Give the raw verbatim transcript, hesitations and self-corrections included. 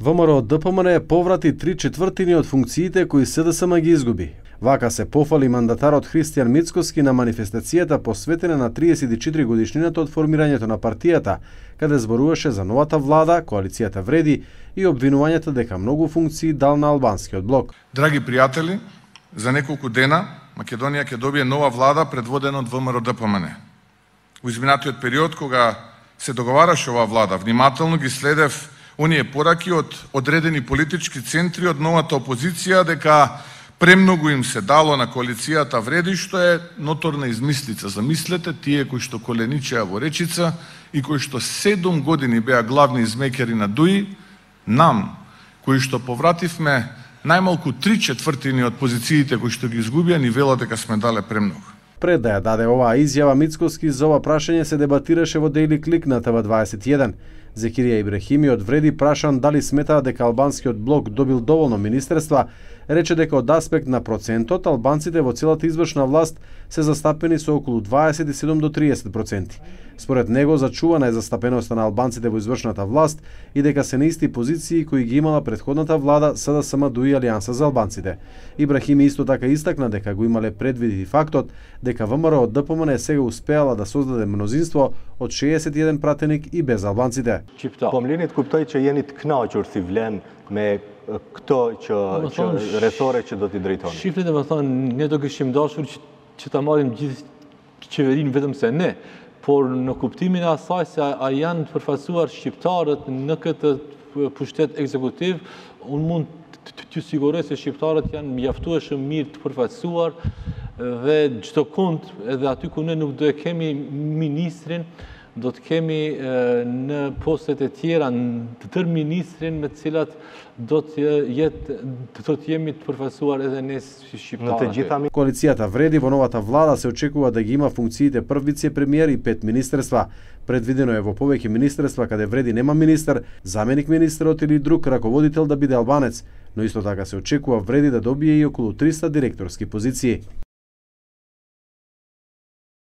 ВМРО Д П М Н поврати три четвртини од функциите кои С Д С М ги изгуби. Вака се пофали мандатарот Христијан Мицкоски на манифестацијата посветена на триесет и четири годишнината од формирањето на партијата, каде зборуваше за новата влада, коалицијата Вреди и обвинувањата дека многу функции дал на албанскиот блок. Драги пријатели, за неколку дена Македонија ќе добие нова влада предводена од ВМРО Д П М Н. Во изминатиот период кога се договараше оваа влада, внимателно ги следев оние пораки од одредени политички центри од новата опозиција дека премногу им се дало на коалицијата Вреди, што е ноторна измислица. Замислете, тие кои што коленичеа во Речица и кои што седум години беа главни измекери на ДУИ, нам, кои што повративме најмалку три четвртини од позициите кои што ги изгубија, ни велат дека сме дале премногу. Пред да ја даде оваа изјава, Мицкоски за ова прашање се дебатираше во Daily Click на Т В дваесет и еден. Зекирија Ибрахими од Вреди, прашан дали сметаа дека албанскиот блок добил доволно министерства, рече дека од аспект на процентот, албанците во целата извршна власт се застапени со околу дваесет и седум до триесет проценти. Според него, зачувана е застапеноста на албанците во извршната власт и дека се на исти позиции кои ги имала претходната влада С Д С М ДУИ Алијанса за албанците. Ибрахими исто така истакна дека го имале предвид и фактот дека ВМРО Д П М Н сега успеала да создаде мнозинство од шеесет и еден пратеник и без албанците. Po më lini të kuptoj që jeni të kënaqur si vlen me këto që, që rrethore që do t'i drejtoni. Shifrit e më thonë, ne do kishim dashur që, që ta marrim gjithë qeverinë vetëm se ne, por në kuptimin e asaj se a, a janë të përfaqësuar shqiptarët në këtë pushtet ekzekutiv, unë mund t'ju siguroj se shqiptarët janë mjaftueshëm mirë të përfaqësuar dhe çdo kund, edhe aty ku ne nuk do e kemi ministrin, do të kemi në postet e tjera të tërë ministrin me të cilat do të jetë do të jemi të përfaqësuar edhe ne si shqiptarë. Коалицијата Вреди во новата влада се очекува да ги има функциите прв вице-премиер и пет министерства. Предвидено е во повеќе министерства каде Вреди нема министер, заменик министерот или друг раководител да биде албанец, но исто така се очекува Вреди да добие и околу триста директорски позиции.